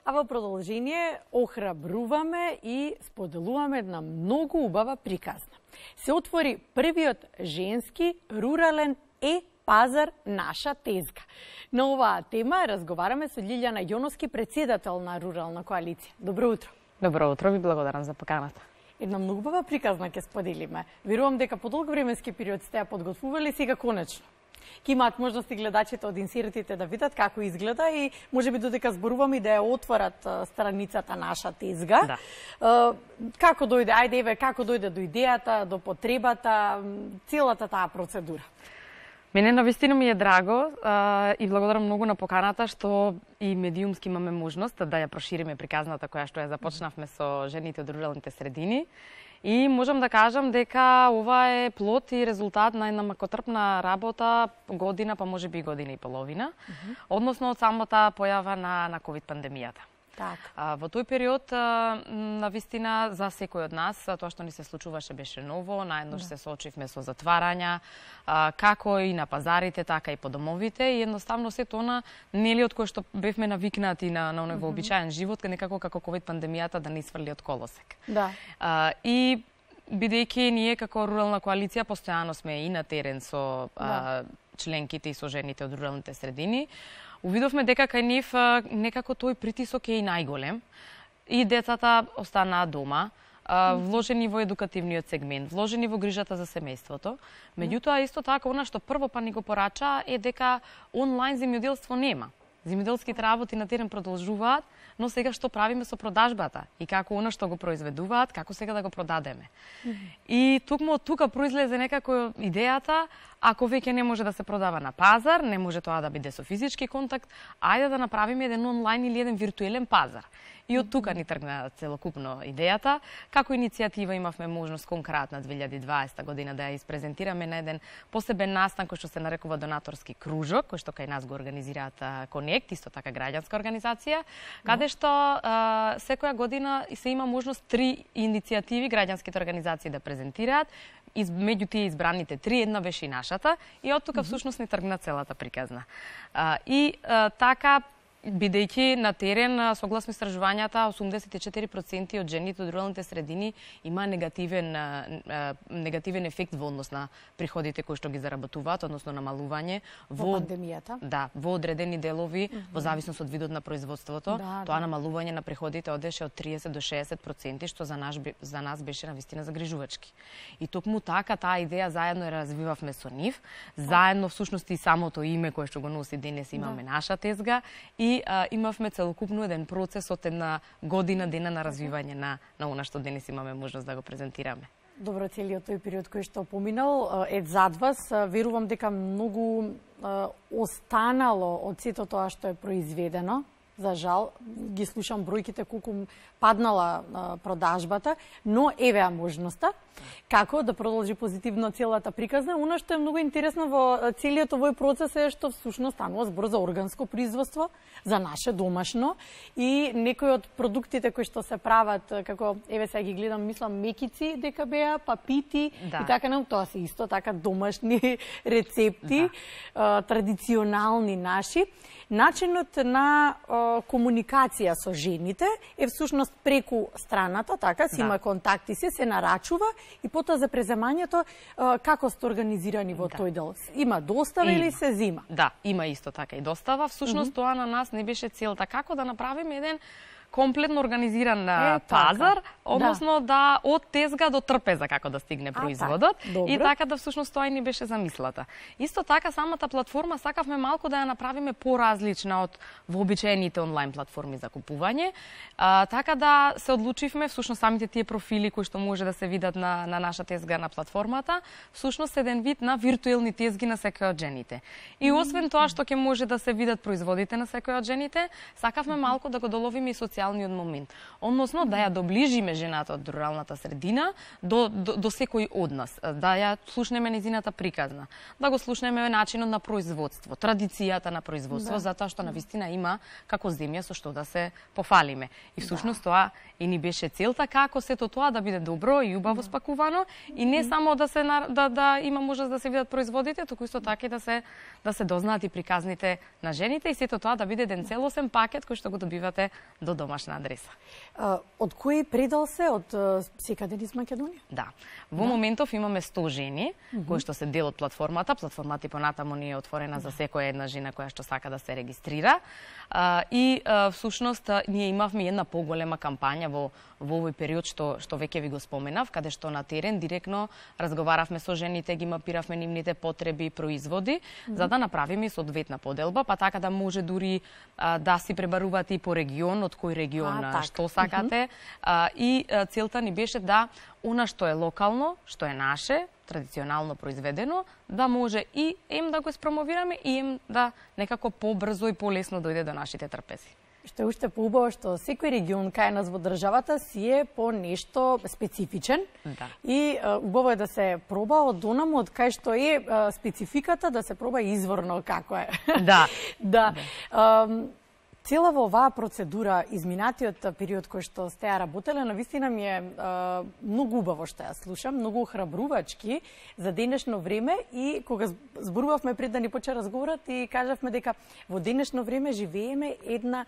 А во продолжение охрабруваме и споделуваме една многу убава приказна. Се отвори првиот женски рурален пазар Наша тезга. На оваа тема разговараме со Лилјана Јоновски, председател на Рурална коалиција. Добро утро. Добро утро, ви благодарам за поканата. Една многу убава приказна ќе споделиме. Верувам дека по долг временски период сте ја подготвували, сега конечно. Ке имаат можности гледачите од инсертите да видат како изгледа и можеби додека зборуваме и да ја отворат страницата Наша тезга. Да. Како дојде, ајде еве, како дојде до идејата, до потребата, целата таа процедура? Мене навистина ми е драго и благодарам многу на поканата што и медиумски имаме можност да ја прошириме приказната која што ја започнавме со жените од руралните средини. И можам да кажам дека ова е плод и резултат на една макотрпна работа, година, па можеби година и половина, односно од самата појава на ковид пандемијата. Во тој период, навистина, за секој од нас, тоа што ни се случуваше беше ново, наеднош се соочивме со затварања, како и на пазарите, така и по домовите, и едноставно сето она нели од кое што бевме навикнати на оној вообичаен живот, некако како ковид пандемијата да не сврли од колосек. Да. И бидејќи ние како рурална коалиција постојано сме и на терен со членките и со жените од руралните средини, увидовме дека кај нив некако тој притисок е и најголем. И децата останаа дома, вложени во едукативниот сегмент, вложени во грижата за семејството. Меѓутоа, исто така, она што прво па ни го порача е дека онлайн земјоделство нема. Земјоделските работи на терен продолжуваат, но сега што правиме со продажбата и како она што го произведуваат, како сега да го продадеме. И токму од тука произлезе некако идејата, ако веќе не може да се продава на пазар, не може тоа да биде со физички контакт, ајде да направиме еден онлайн или еден виртуелен пазар. И од тука ни тргна целокупно идејата. Како иницијатива имавме можност конкретно 2020 година да ја испрезентираме на еден посебен настан кој што се нарекува донаторски кружок, кој што кај нас го организираат Конект, исто така граѓанска организација, каде што секоја година се има можност 3 иницијативи граѓанските организации да презентираат. Меѓу тие избраните 3, една беше и нашата, и од тука всушност ни тргна целата приказна. Така, бидејќи на терен, согласно истражувањата, 84% од жените од руралните средини има негативен ефект во однос на приходите кои што ги заработуваат, односно намалување во пандемијата. Да, во одредени делови, во зависност од видот на производството, тоа намалување на приходите одеше од 30 до 60%, што за нас беше навистина загрижувачки. И токму така таа идеја заедно ја развивавме со нив, заедно всушност и самото име кое што го носи денес имаме Наша тезга, и имавме целокупно еден процес од една година дена на развивање на она што денес имаме можност да го презентираме. Добро, целиот тој период кој што поминал е зад вас. Верувам дека многу останало од сето тоа што е произведено. За жал, ги слушам бројките колку паднала продажбата, но еве можноста како да продолжи позитивно целата приказна. Она што е многу интересно во целиот овој процес е што всушност станува збор за органско производство, за наше домашно, и некои од продуктите кои што се прават, како еве сега ги гледам, мислам мекици дека беа, папити и така, тоа се исто така домашни рецепти, традиционални наши. Начинот на комуникација со жените е всушност преку страната, така, си има контакти, се нарачува, и потоа за преземањето како сте организирани во тој дел? Има достава или се зима? Да, има исто така и достава. Всушност тоа на нас не беше целта, како да направиме еден комплетно организиран пазар, односно да од тезга до трпеза како да стигне производот, и така да всушност тоа и ни беше замислата. Исто така самата платформа сакавме малку да ја направиме поразлична од вообичаените онлайн платформи за купување, така да се одлучивме всушност самите тие профили кои што може да се видат на Наша тезга на платформата, всушност еден вид на виртуелни тезги на секој од жените. И освен тоа што ќе може да се видат производите на секој од жените, сакавме малку да го доловиме и круцијалниот момент. Односно, да ја доближиме жената од руралната средина до секој од нас, да ја слушнеме нејзината приказна, да го слушнеме начинот на производство, традицијата на производство, затоа што навистина има како земја со што да се пофалиме. И всушност тоа и ни беше целта, како сето тоа да биде добро и убаво спакувано и не само да има можност да се видат производите, туку исто така и да се дознаат и приказните на жените и сето тоа да биде еден целосен пакет кој што го добивате до домашна адреса. Од кој предел се? Од секаде низ Македонија? Да. Во моментов имаме 100 жени кои што се дел од платформата. Платформата и понатаму ни е отворена за секоја една жена која што сака да се регистрира. И всушност ние имавме една поголема кампања во овој период што веќе ви го споменав, каде што на терен директно разговаравме со жените, ги мапиравме нивните потреби и производи, за да направиме соодветна поделба, па така да може дури да си пребарувате и по регион, од кој регион што сакате. И целта ни беше да она што е локално, што е наше, традиционално произведено, да може и да го испромовираме и да некако побрзо и полесно дојде до нашите трпези. Што е уште поубаво што секој регион кај нас во државата си е по нешто специфичен. И убаво е да се проба од онаму од кај што е спецификата, да се проба изворно како е. Да. Цела во оваа процедура, изминатиот период кој што сте ја работеле, навистина ми е многу убаво што ја слушам, многу охрабрувачки за денешно време и кога зборувавме пред да ни почне разговорот и кажавме дека во денешно време живееме една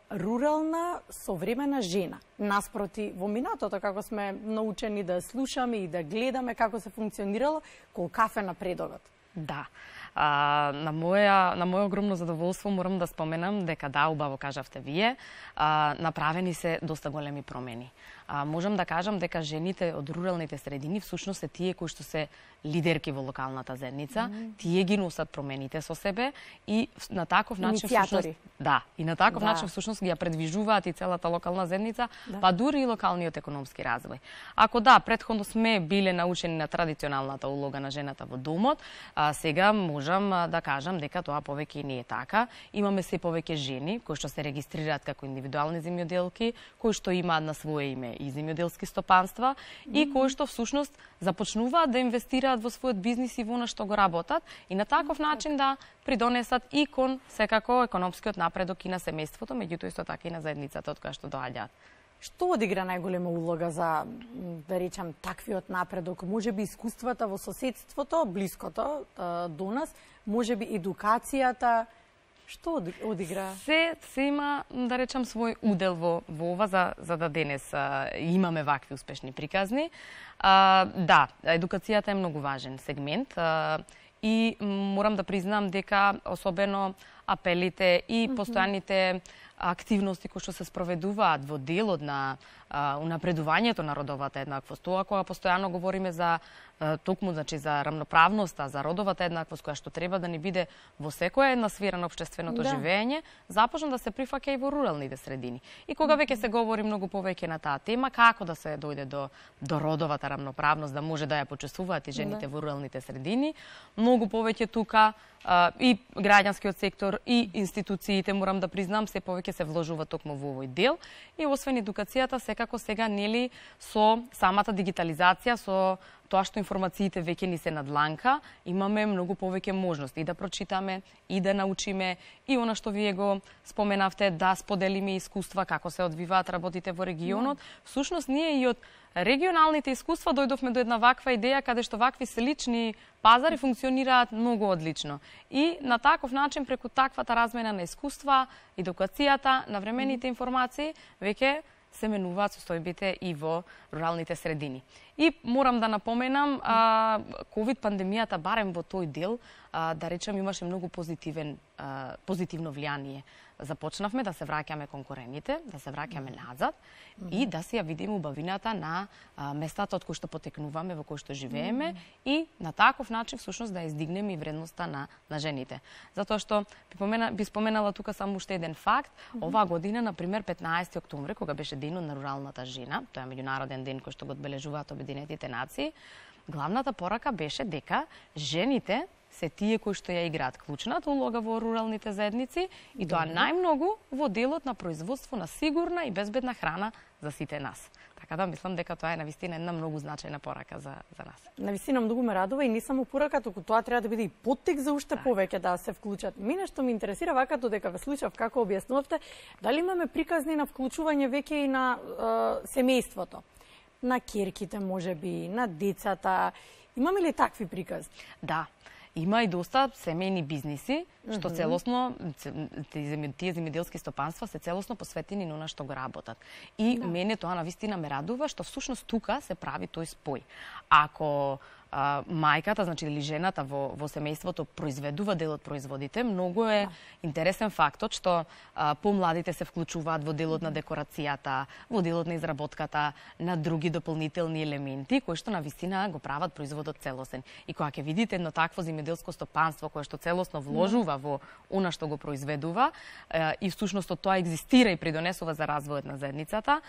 рурална современа жена. Наспроти во минатото како сме научени да слушаме и да гледаме како се функционирало, колкав е напредокот. Да. На моје огромно задоволство морам да споменам дека да, убаво кажавте вие, направени се доста големи промени. Можам да кажам дека жените од руралните средини всушност се тие кои што се лидерки во локалната заедница, тие ги носат промените со себе и на таков начин всушност всушност ги ја предвижуваат и целата локална заедница, па дури и локалниот економски развој. Ако да, претходно сме биле научени на традиционалната улога на жената во домот, сега можам да кажам дека тоа повеќе не е така. Имаме се повеќе жени кои што се регистрираат како индивидуални земјоделки, кои што имаат на свое име и земјоделски стопанства и кои што всушност започнуваат да инвестираат во својот бизнис и во она што го работат и на таков начин да придонесат и кон секако економскиот напредок и на семејството, меѓутоа исто така и на заедницата од која што доаѓаат. Што одигра најголема улога за, да речам, таквиот напредок? Можеби искуствата во соседството, блиското до нас, можеби едукацијата, што одигра? Се има, да речам, свој удел во ова за да денес имаме вакви успешни приказни. Да, едукацијата е многу важен сегмент и морам да признам дека особено апелите и постојаните активности кои што се спроведуваат во делот на унапредувањето на родовата еднаквост. Тоа кога постојано говориме за токму, значи за рамноправноста, за родовата еднаквост која што треба да ни биде во секоја една сфера на општественото живење, започна да се прифаќа и во руралните средини. И кога веќе се говори многу повеќе на таа тема, како да се дојде до родовата рамноправност, да може да ја почувствуваат и жените во руралните средини, многу повеќе тука и граѓанскиот сектор и институциите, морам да признам, се повеќе се вложува токму во овој дел и освен едукацијата, секако сега нели со самата дигитализација, со тоа што информациите веќе ни се надланка, имаме многу повеќе можности и да прочитаме, и да научиме, и она што вие го споменавте, да споделиме искуства како се одвиваат работите во регионот. Всушност, ние и од регионалните искуства дојдовме до една ваква идеја каде што вакви слични пазари функционираат многу одлично. И на таков начин, преку таквата размена на искуства, едукацијата, навремените информации, веќе се менуваат состојбите и во руралните средини. И морам да напоменам, ковид пандемијата, барем во тој дел, да речем, имаше многу позитивно влијание. Започнавме да се враќаме кон корените, да се враќаме назад и да си ја видиме убавината на местата од кои што потекнуваме, во кои што живееме и на таков начин всушност да издигнеме и вредноста на жените. Затоа што би споменала тука само уште еден факт, оваа година, например, 15 октомври, кога беше денот на руралната жена, тоа е меѓународен ден кој што го одбележуваат Обединетите нации, главната порака беше дека жените се тие кои што ја играат клучната улога во руралните заедници и тоа најмногу во делот на производство на сигурна и безбедна храна за сите нас. Така да мислам дека тоа е навистина една многу значајна порака за нас. Навистина многу ме радува и не само порака, туку тоа треба да биде и поттик за уште повеќе да се вклучат. Мене што ми интересира вака додека ве слушав како објаснувавте, дали имаме приказни на вклучување веќе и на семејството, на ќерките можеби, на децата. Имаме ли такви приказни? Да. Има и доста семејни бизниси, што целосно, тие земјоделски стопанства се целосно посветени на она што го работат. И мене тоа навистина ме радува, што всушност тука се прави тој спој. Ако мајката, значи или жената во семејството произведува дел од производите, многу е интересен фактот што помладите се вклучуваат во делот на декорацијата, во делот на изработката на други дополнителни елементи кои што навистина го прават производот целосен. И кога ќе видите едно такво земјоделско стопанство кое што целосно вложува во она што го произведува и всушност тоа екзистира и придонесува за развојот на заедницата,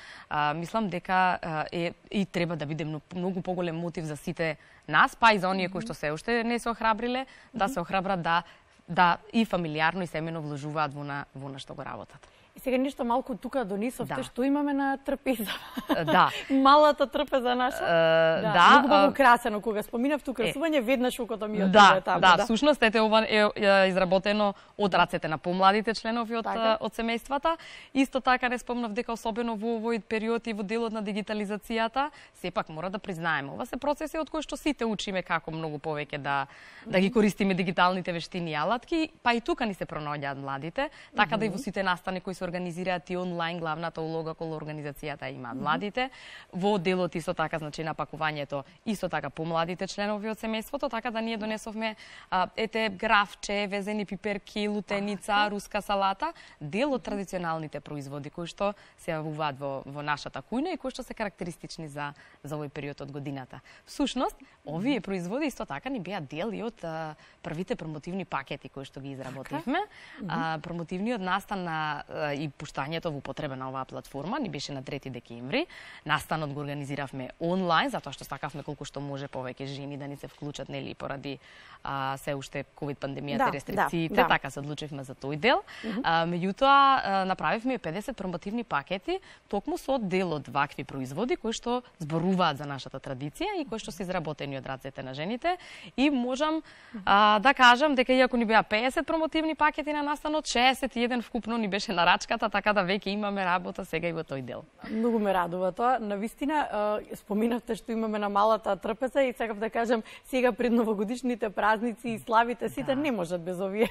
мислам дека и треба да биде многу поголем мотив за сите нас, па и за оние кои што се уште не се охрабриле, да се охрабрат да и фамилиарно и семено вложуваат во на што го работат. И сега нешто малку тука донесовте, што имаме на трпеза. Да. Малата трпеза наша. Да. Многу украсено кога споминав тука украсување, веднаш окото ми отиде таму. Да, всушност ова е изработено од рацете на помладите членови од семејствата. Исто така не спомнав дека особено во овој период и во делот на дигитализацијата, сепак мора да признаеме, ова се процеси од кои што сите учиме како многу повеќе да ги користиме дигиталните вештини и алатки, па и тука ни се пронаоѓаат младите, така да и во сите настани кои се организираат и онлайн, главната улога кон организацијата имаат младите. Во делот исто така, значи на пакувањето, исто така помладите членови од семејството, така да ние донесовме графче, везени пиперки, лутеница, руска салата, дел од традиционалните производи кои што се јавуваат во нашата кујна и кои што се карактеристични за овој период од годината. Всушност, овие производи исто така ни беа дел и од првите промотивни пакети кои што ги изработивме. Промотивниот настан и пуштањето во употреба на оваа платформа ни беше на 3 декември. Настанот го организиравме онлайн, затоа што сакавме колку што може повеќе жени да ни се вклучат, нели, поради се уште ковид пандемијата и рестрикциите, така се одлучивме за тој дел. Меѓутоа направивме 50 промотивни пакети токму со дел од вакви производи кои што зборуваат за нашата традиција и кои што се изработени од рацете на жените. И можам да кажам дека иако ни беа 50 промотивни пакети на настанот, 61 вкупно ни беше на рачката, така да веќе имаме работа сега и во тој дел. Многу ме радува тоа. Навистина, споминавте што имаме на малата трпеза и сакав да кажам, сега пред новогодишните празници и славите сите не можат без овие.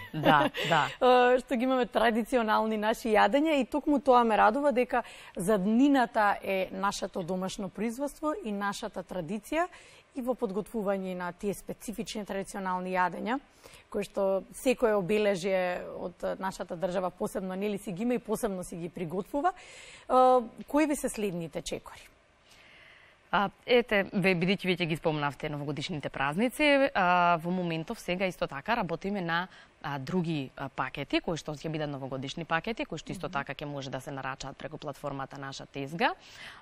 Што ги имаме традиционални наши јадења и токму тоа ме радува дека заднината е нашето домашно производство и нашата традиција и во подготвување на тие специфични традиционални јадења, кои што секое обележие од нашата држава посебно нели си ги има и посебно си ги приготвува. Кои ви се следните чекори? Ете, бидејќи веќе ги спомнавте новогодишните празници, во моментов сега исто така работиме на други пакети, кои што ќе бидат новогодишни пакети, кои што исто така ќе може да се нарачаат преку платформата наша Тезга,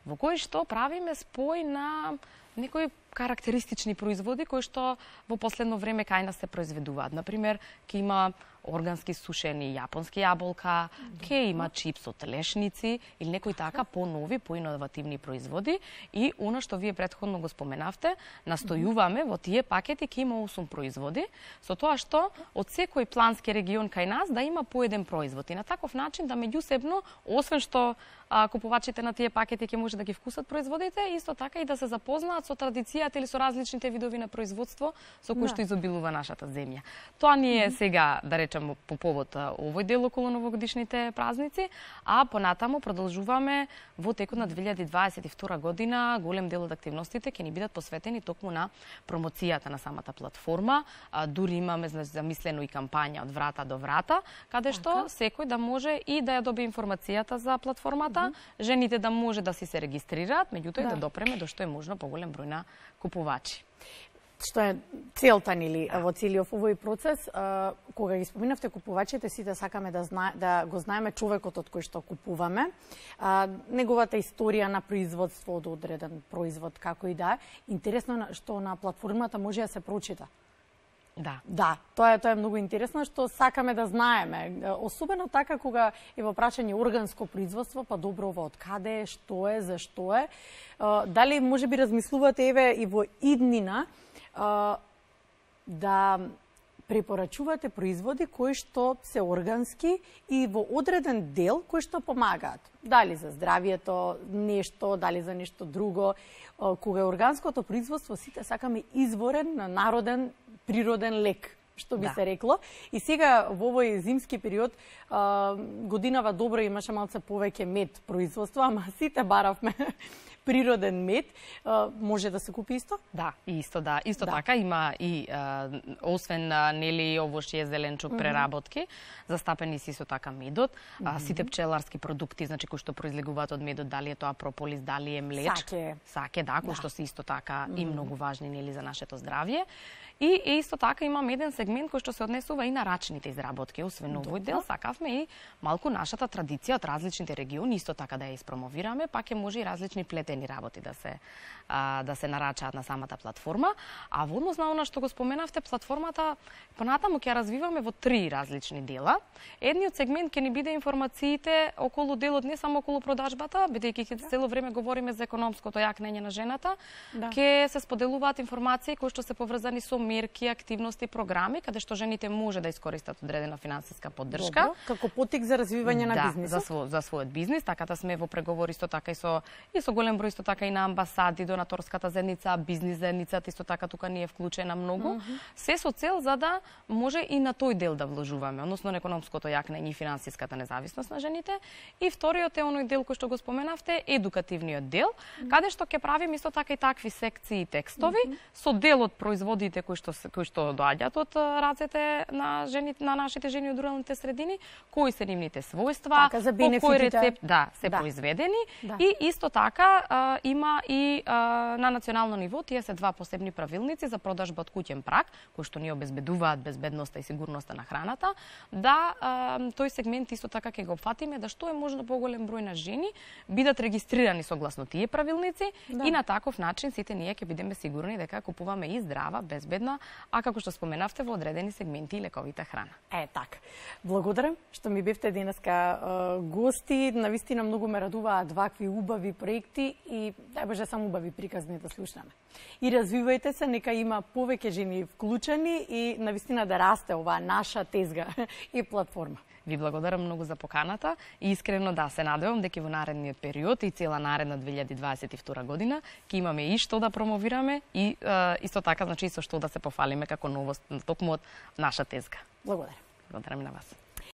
во кои што правиме спој на некои карактеристични производи кои што во последно време кај нас се произведуваат. Например, ќе има органски сушени јапонски јаболка, ќе има чипс од лешници или некои така понови, поиновативни производи и она што вие претходно го споменавте, настојуваме во тие пакети ќе има 8 производи, со тоа што од секој плански регион кај нас да има по еден производ и на таков начин да меѓусебно, освен што купувачите на тие пакети ќе може да ги вкусат производите, исто така и да се запознаат со традицијата или со различните видови на производство со кои што изобилува нашата земја. Тоа ни е сега, да речем, по повод овој дел околу новогодишните празници, а понатаму продолжуваме во текот на 2022 година. Голем дел од активностите ќе ни бидат посветени токму на промоцијата на самата платформа. Дури имаме замислено и кампања од врата до врата, каде што секој да може и да ја добие информацијата за платформата, жените да може да си се регистрираат, меѓутоа и да допреме до што е можно поголем број на купувачи. Што е целта нели во целиот овој процес, кога ги споминавте купувачите, сите сакаме да го знаеме човекот од кој што купуваме, неговата историја на производство од одреден производ, како и да е. Интересно што на платформата може да се прочита. Да, тоа е многу интересно што сакаме да знаеме. Особено така кога е во прашање органско производство, па добро во откаде е, што е, зашто е. Дали можеби размислувате еве и во иднина да препорачувате производи кои што се органски и во одреден дел кои што помагаат. Дали за здравието нешто, дали за нешто друго. Кога е органското производство, сите сакаме изворен, народен, природен лек, што би се рекло. И сега во овој зимски период годинава добро имаше малце повеќе мед производство, ама сите баравме природен мед. Може да се купи исто? Да, исто така има и освен нели овошје, зеленчук, преработки, застапени си со така медот, сите пчеларски продукти, значи кои што произлегуваат од медот, дали е тоа прополис, дали е млеч, саке, кои што се исто така и многу важни нели за нашето здравје. И исто така имам еден сегмент кој што се однесува и на рачните изработки. Освен овој дел, сакавме и малку нашата традиција од различните региони исто така да ја испромовираме, пак е може и различни плетени работи да се нарачаат на самата платформа. А во однос на она што го споменавте, платформата понатаму ќе ја развиваме во 3 различни дела. Едниот сегмент ќе ни биде информациите околу делот, не само околу продажбата, бидејќи цело време говориме за економското јакнење на жената, ќе се споделуваат информации кои што се поврзани со мерки, активности, програми, каде што жените може да искористат одредена финансиска поддршка. Добро, како поттик за развивање на бизнисот. За својот бизнис, така да сме во преговори исто така и со голем број исто така и на амбасади, донаторската заедница, бизнис заедницата исто така тука ни е вклучена многу. Се со цел за да може и на тој дел да вложуваме, односно на економското јакнење и финансиската независност на жените. И вториот е оној дел кој што го споменавте, едукативниот дел, каде што ќе правиме исто така и такви секции и текстови со дел од производите кои што доаѓаат од рацете на жените, на нашите жени од руралните средини, кои се нивните својства, по кој рецепт се произведени. И исто така има и на национално ниво тие се 2 посебни правилници за продажба од куќен праг, кои што ни обезбедуваат безбедноста и сигурноста на храната, да тој сегмент исто така ќе го опфатиме да што е можно поголем број на жени бидат регистрирани согласно тие правилници и на таков начин сите ние ќе бидеме сигурни дека купуваме и здрава, безбедна, а како што споменавте во одредени сегменти и лековита храна. Така. Благодарам што ми бевте денеска гости. Навистина многу ме радуваат вакви убави проекти и дај Боже само убави приказни да слушнаме. И развивајте се, нека има повеќе жени вклучени и навистина да расте оваа наша тезга и платформа. Ви благодарам многу за поканата и искрено се надевам дека во наредниот период и цела наредна 2022 година ќе имаме и што да промовираме и исто така значи и со што да се пофалиме како новост токму од наша тезга. Благодарам. Благодарам на вас.